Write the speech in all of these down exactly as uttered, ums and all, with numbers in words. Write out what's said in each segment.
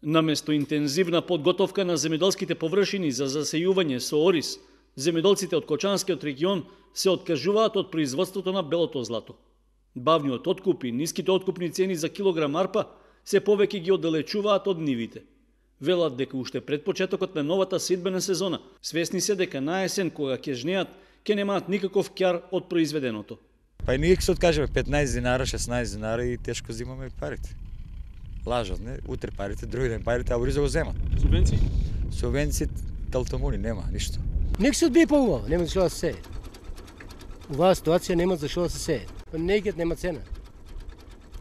Наместо интензивна подготовка на земјоделските површини за засејување со ориз, земјоделците од Кочанскиот регион се откажуваат од производството на белото злато. Бавниот откуп и ниските откупни цени за килограм арпа се повеќе ги оддалечуваат од нивите. Велат дека уште пред почетокот на новата сетбена сезона, свесни се дека на есен кога ќе жнеат, ќе немаат никаков ќар од произведеното. Па и ние ќе се откажеме петнаесет динара, шеснаесет динара и тешко зимаме парите. Лажат, не? Утре парите, други ден парите, а ориза го земат. Субвенции? Субвенции, талтамуни, нема, ништо. Нека се одбие по-убаво, нема зашо да се сее. Оваа ситуација нема зашо да се сее. Негиот нема цена.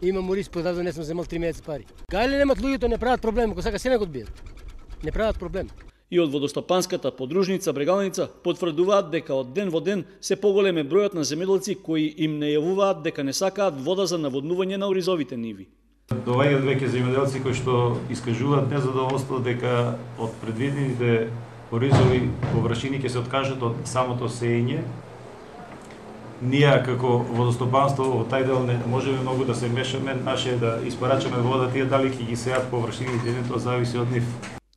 Имам ориз продаден, не сум земал три месеци пари. Кај ли немат луѓето, не прават проблем, ако сака се не го одбијат. Не прават проблем. И од водостопанската подружница Брегалница потврдуваат дека од ден во ден се поголем е бројот на земјоделци кои им најавуваат дека не сакаат вода за наводнување на оризовите ниви. Доаѓаат веќе земјоделци кои што искажуваат незадоволство дека од предвидените оризови површини ќе се откажат од самото сеење. Ние како водостопанство во тај дел не можеме многу да се мешаме, наше е да испарачаме вода, тие дали ќе ги сеат површините, не тоа зависи од нив.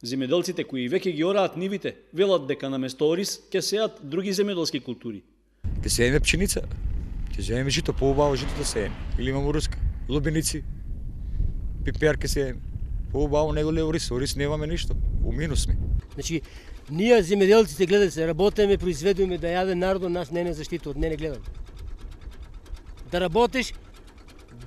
Земјоделците кои веќе ги ораат нивите велат дека наместо ориз ќе сеат други земјоделски култури. Ќе сееме пченица, ќе земеме жито, поубаво жито да сееме. Или имамо руска, лубеници, пипер ќе сееме. Поубаво него ли ориз, ориз немаме ништо, у минус сме. Значи, ние земјоделците гледате се, работиме, произведуваме да јаде народот, нас не не заштитува, не не гледаме. Да работиш,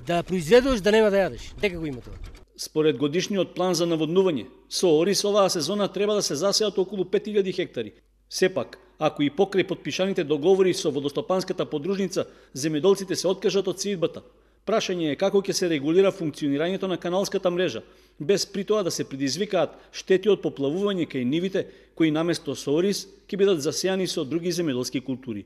да произведуваш, да нема да јадеш. Дека го има тоа. Според годишниот план за наводнување, со ориз оваа сезона треба да се засеат околу пет илјади хектари. Сепак, ако и покрај потпишаните договори со водостопанската подружница, земјоделците се откажат од сеидбата, прашање е како ќе се регулира функционирањето на каналската мрежа, без при тоа да се предизвикаат штети од поплавување кај нивите, кои наместо со ориз ќе бидат засејани со други земјоделски култури.